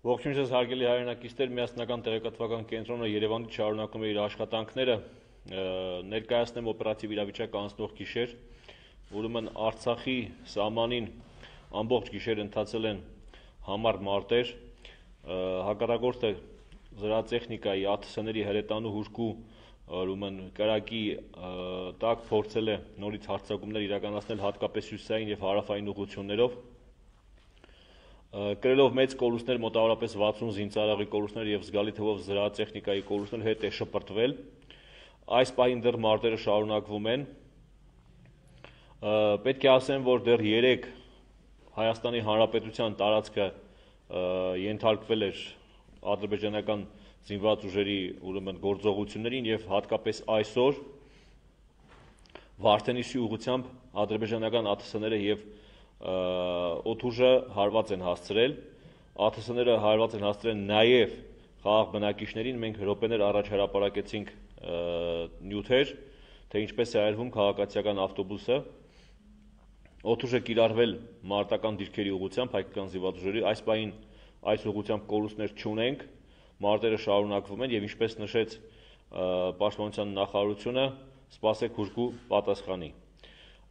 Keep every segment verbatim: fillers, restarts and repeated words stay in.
Ողջույն ձեզ հարգելի հայրենակիցներ, միասնական տեղեկատվական կենտրոնը Երևանից շարունակում է իր աշխատանքները, ներկայացնեմ օպերատիվ իրավիճակ անցնող գիշեր, ուրեմն Արցախի սահմանին ամբողջ գիշեր ընթացել են համառ մարտեր, հակառակորդը զրահատեխնիկայի ԱԹՍ-ների հրետանու հուժկու ուրեմն կրակի տակ փորձել է նորից հարձակումներ իրականացնել հատկապես հյուսիսային եւ հարավային ուղղություններով, կրելով մեծ կորուստներ, մոտավորապես վաթսուն զինծառայողի կորուստներ եւ զգալի թվով զրահատեխնիկայի կորուստներ, հետ է շպրտվել։ Այս պահին դեռ մարտերը շարունակվում են։ Պետք է ասեմ, որ դեռ երեկ Հայաստանի Հանրապետության տարածքը ենթարկվել էր ադրբեջանական զինված ուժերի ուրեմն գործողություններին եւ հատկապես այսօր Վարդենիսի ուղղությամբ ադրբեջանական ԱԹՍ-ները եւ օդուժը հարված են հասցրել, ԱԹՍ-ները հարված են հասցրել նաև խաղաղ բնակիչներին, մենք րոպեներ առաջ հրապարակեցինք նյութեր, թե ինչպես է այրվում քաղաքացիական ավտոբուսը, օդուժը կիրառվել մարտական դիրքերի ուղղությամբ, հայկական զինված ուժերի, այս պահին այս ուղղությամբ կորուստներ չունենք, մարտերը շարունակվում են եւ ինչպես նշեց Պաշտպանության նախարարությունը, սպասեք հուժկու պատասխանի։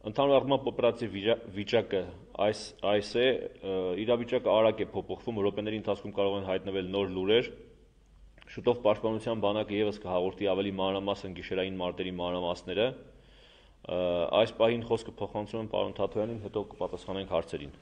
Ընդհանուր առմամբ օպերատիվ վիճակը այս այս է, իրավիճակը արագ է փոփոխվում, րոպեների ընթացքում կարող են հայտնվել նոր լուրեր, շուտով Պաշտպանության բանակը եւս կհաղորդի ավելի մանրամասն գիշերային մարտերի մանրամասները, այս պահին խոսքը փոխանցում եմ պարոն Թաթոյանին, հետո կպատասխանենք հարցերին։